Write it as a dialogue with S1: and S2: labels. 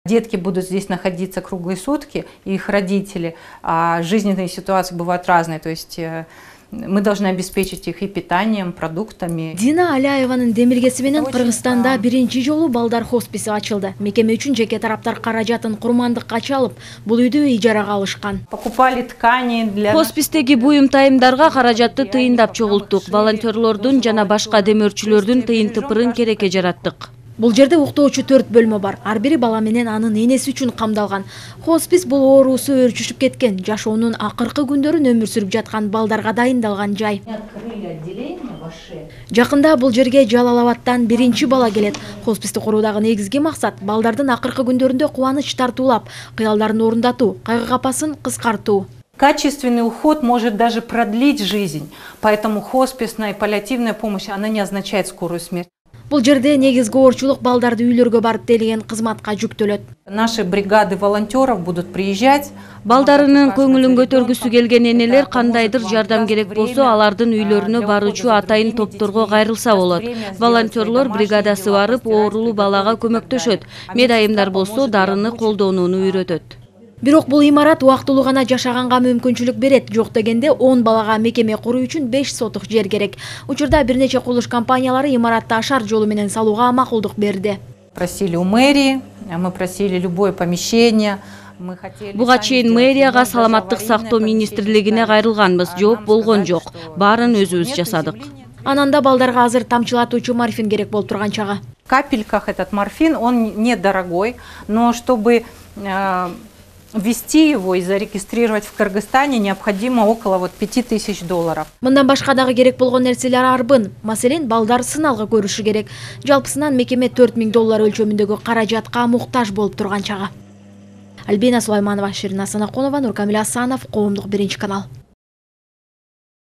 S1: Детки будут здесь находиться круглые сутки, и их родители, а жизненные ситуации бывают разные, то есть мы должны обеспечить их и питанием, продуктами.
S2: Дина Аляеванын демилгеси менен Кыргызстанда биринчи жолу балдар хосписи ачылды. Мекеме үчүн жеке тараптар каражатын курмандыкка чалып, бул үйдү ижарага алышкан.
S1: Покупали ткани для
S3: Хоспистеги буюм тайымдарга каражатты тыйындап чогулттук. Волонтерлордун жана башка демөөрчүлөрдүн тыйын тыпырын керекке жараттык.
S2: Бул жерде уктоочу 4 бөлмө бар. Ар бири бала менен анын энеси үчүн камдалган. Хоспис бул оорусу өөрчүшүп кеткен, жашоонун акыркы күндөрүн өмүр сүрүп жаткан балдарга дайындалган жай. Жакында бул жерге Жалал Абадтан биринчи бала келет. Хосписти куруудагы негизги максат балдардын акыркы күндөрүндө кубаныч тартуулап, кыялдарын орундатуу, кайгы капасын кыскартуу.
S1: Качественный уход может даже продлить жизнь, поэтому хосписная и паллиативная помощь, она не означает скорую смерть.
S2: Бул жерде негизги оорчулук балдарды үйлөргө барып делген кызматка жүктөлөт.
S1: Наши бригады волонтеров будут приезжать.
S3: Балдарынын көңүлүн көтөргүсү келген энелер кандайдыр жардам керек болсо, алардын үйлөрүнө баруучу атайын топторго кайрылса болот. Волонтерлор бригадасы барып, оорулуу балага көмөктөшөт. Медайымдар болсо, дарыны колдонууну үйрөтөт.
S2: Бирок бул имарат убактылуу гана жашаганга мүмкүнчүлүк берет. Жок дегенде 10 балага мекеме куруу үчүн 5 сотук жер керек. Учурда бир нече курулуш компаниялары имаратты ашар жолу менен салууга макулдук берди.
S1: Просили у мэрии, мы просили любое помещение.
S3: Буга чейин мэрияга, саламаттык сактоо министрлигине кайрылганбыз. Жооп болгон жок. Баарын өзүбүз жасадык.
S2: Ананда балдарга азыр тамчылатуучу морфин керек болуп турган чагы.
S1: В капельках этот морфин, он недорогой, но чтобы ввести его и зарегистрировать в Кыргызстане необходимо около $5000.
S2: Мындан башка дагы керек болгон нерселер арбын. Маселен, балдар сыналгы көрүшү керек. Жалпысынан мекеме $4000 өлчөмүндөгү каражатка муктаж болуп турган чагы. Альбина Сулайманова, Ширин Асанакунова, Нуркамил Асанов, Коомдук биринчи канал.